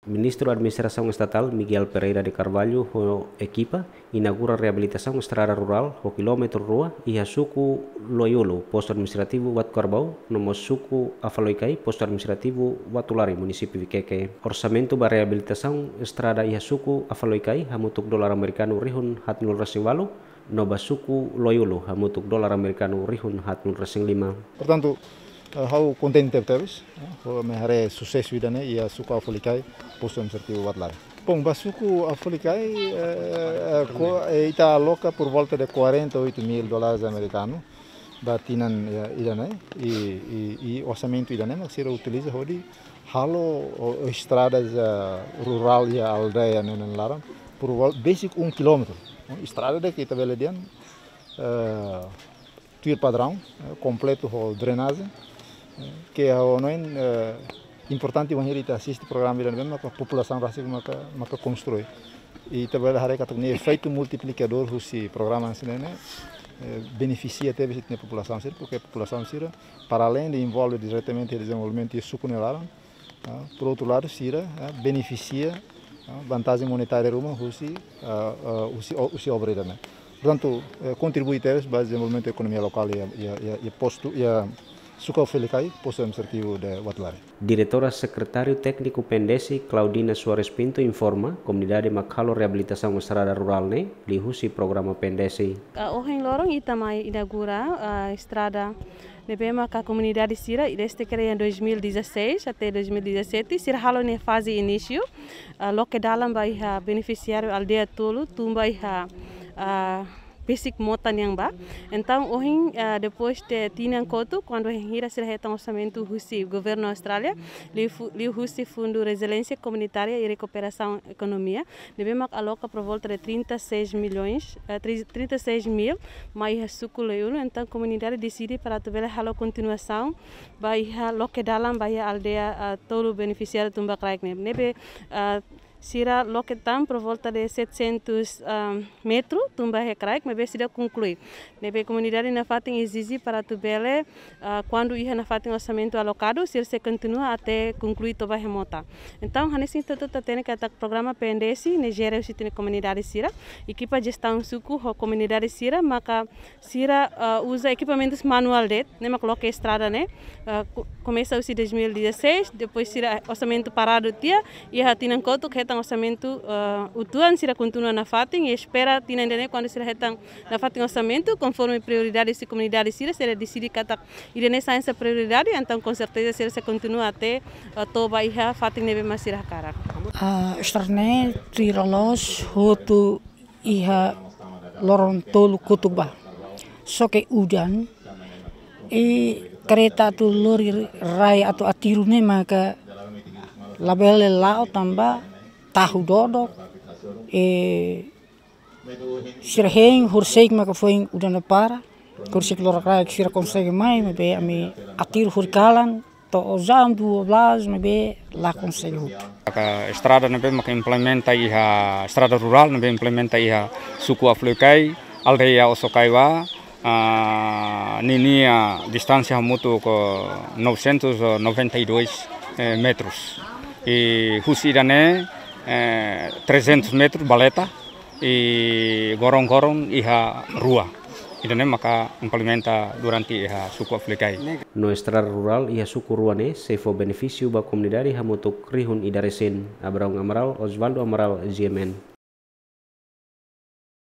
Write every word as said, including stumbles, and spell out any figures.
Ministru Administrasaun Estatál Miguel Pereira de Carvalho ho ekipa inaugura reabilitasaun estrada rurál ho kilómetru rua iha suku Loiulu, postu administrativu Watu Karbau, no mós suku Afaloikai, postu administrativu Watulari, munisípiu Viqueque. Orsamentu ba reabilitasaun estrada iha suku Afaloikai hamutuk dolar amerikanu rihun haatnulu resin walu, no ba suku Loiulu hamutuk dolar amerikanu rihun haatnulu resin lima. Portantu, eh, ha'u kontente tebes, eh, ho ema haree susesu ida-ne'e iha suku Afaloikai, postu administrativu Watulari. Bom, ba suku Afaloikai, eh, eh, ko-, eh, ita aloka por volta de quarenta e oito mil dólares americano ba tinan, eh, ida-ne'e, i, i, i orsamentu ida-ne'e mak sira utiliza hodi halo, o, o estradas, eh, rurál iha aldeia ne'e nia laran, por vol-, besik um quilómetro. Estrada ida ke ita bele dehan, eh, tuir padraun, eh, kompletu ho drenajen, eh, ke ha'u hanoin, eh, importante wainhira ita asiste programa ida-ne'ebé maka populasaun rasik maka, maka konstrui. I ita bele haree katak nia efeitu multiplikadór husi programa hanesan ne'e, eh, benefisia tebes ita-nia populasaun sira, porque populasaun sira, para além de envolve diretamente iha dezenvolvimentu iha suku nia laran, ah, por outro lado, sira, ah, benefisia, ah, vantajen monetária ruma husi, ah, ah, husi, husi obra ida-ne'e. Portantu, eh, kontribui tebes ba dezenvolvimentu ekonomia lokál iha, iha, iha, iha postu, iha suku Afaloikai, postu administrativu de Watulari. Diretora Sekretáriu Tékniku PNDESI, Claudina Soares Pinto, informa, komunidade mak halo reabilitasaun estrada rurál ne'e liuhusi programa PNDESI. Ah, ohin loron ita mai inaugura, ah, estrada ne'ebé maka komunidade sira, desde que em dois mil e dezasseis até dois mil e dezassete, sira halo nia faze inísiu, ah, loke dalan ba iha benefisiáriu aldeia tolu, tun ba iha, ah, besik mota nian ba. Entaun, ohin, ah, depois de tinan kotuk, kuandu wainhira sira hetan orsamentu husi governu Austrália, liu fu-, liuhusi Fundu Reziliénsia Komunitária e Rekuperasaun Ekonomia, ne'ebé mak aloka por volta de trinta e seis milhões, eh, tri-, trinta e seis mil, mai iha suku Loiulu, entaun komunidade deside para atu bele halo kontinuasaun ba iha loke dalan ba iha aldeia, ah, tolu benefisiáriu tun ba kraik ne'e. Ne'ebé, ah, sira loke tan por volta de setecentos, ah, metru tun ba iha kraik, maibé seidauk konklui. Ne'ebé komunidade nafatin ezije para atu bele, ah, kuandu iha nafatin orsamentu alokadu, sira sei kontinua até konklui to'o ba iha mota. Entaun, hanesan ita hotu hatene katak programa PNDESI ne'e jere husi ita-nia komunidade sira, ekipa jestaun suku ho komunidade sira, maka sira, ah, uza ekipamentus manuál de'it, ne'e mak loke estrada ne'e, ah, ko-, komesa husi dois mil e dezasseis, depois sira orsamentu paradu tiha, iha tinan kotuk hetan orsamentu, ah, uitoan, sira kontinua nafatin, i espera tinan ida-ne'e kuandu sira hetan nafatin orsamentu, konforme prioridade husi komunidade sira, sira deside katak ida-ne'e sai hanesan prioridade, entaun com certeza sira sei kontinua até, ah, to'o ba iha fatin ne'ebé mak sira hakarak. Ah, estrada ne'e tuir loloos hotu iha loron tolu kotuk ba. Só ke udan, i kareta atu lori rai atu aterru ne'e maka labele la'o tanba tahu dodok, i sira hein horisehik maka foin udan ne'e para, horisehik loron-kraik sira konsege mai, maibé ami aterru horikalan, to'o jam dua belas, maibé la konsege hotu. Maka estrada ne'ebé maka implementa iha, estrada rurál ne'ebé implementa iha suku Afaloikai, aldeia Osokai Wa, ah, ninia distánsia hamutuk novecentos e noventa e dois, eh, metros. I husi ida-ne'e, eh, trezentos metros baleta, i gorong-gorong iha rua. Ida-ne'e maka implementa durante iha suku Afaloikai. No estrada rurál iha suku rua ne'e sei fó benefísiu ba komunidade hamutuk rihun ida resin. Abraão Amaral, Osvaldo Amaral, G M N.